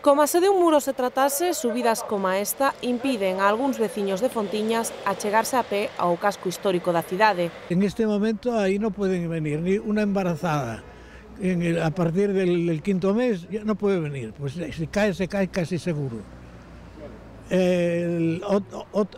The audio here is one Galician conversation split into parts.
Como se de un muro se tratase, subidas como esta impiden a algúns veciños de Fontiñas achegarse a pé ao casco histórico da cidade. En este momento ahí no pueden venir, ni una embarazada. A partir del quinto mes ya no puede venir, pues se cae casi seguro.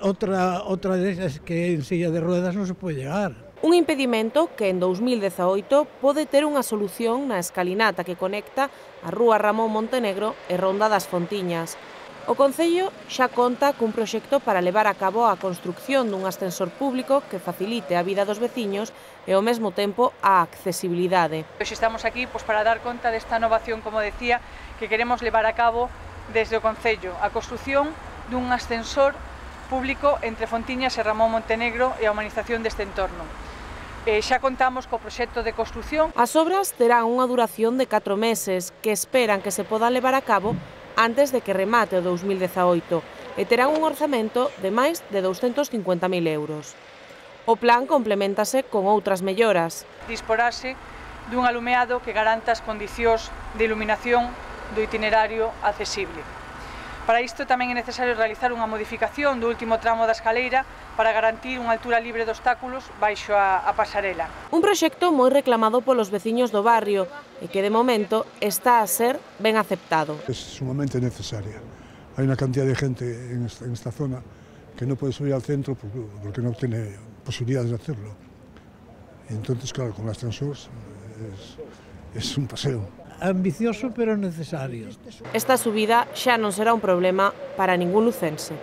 Otra de esas que en silla de ruedas no se puede llegar. Un impedimento que en 2018 pode ter unha solución na escalinata que conecta a Rúa Ramón Montenegro e Ronda das Fontiñas. O Concello xa conta cun proxecto para levar a cabo a construcción dun ascensor público que facilite a vida dos veciños e ao mesmo tempo a accesibilidade. Hoxe estamos aquí para dar conta desta innovación, como decía, que queremos levar a cabo desde o Concello, a construcción dun ascensor público entre Fontiñas e Ramón Montenegro e a humanización deste entorno. Xa contamos co proxecto de construcción. As obras terán unha duración de 4 meses que esperan que se podan levar a cabo antes de que remate o 2018 e terán un orzamento de máis de 250.000 euros. O plan complementase con outras melloras. Disporase dun alumeado que garanta as condicións de iluminación do itinerario accesible. Para isto tamén é necesario realizar unha modificación do último tramo da escaleira para garantir unha altura libre de obstáculos baixo a pasarela. Un proxecto moi reclamado polos veciños do barrio e que de momento está a ser ben aceptado. Es sumamente necesaria. Hay una cantidad de gente en esta zona que no puede subir al centro porque no tiene posibilidades de hacerlo. Y entonces, claro, con el ascensor es un paseo. Ambicioso pero necesario. Esta subida xa non será un problema para ningún lucense.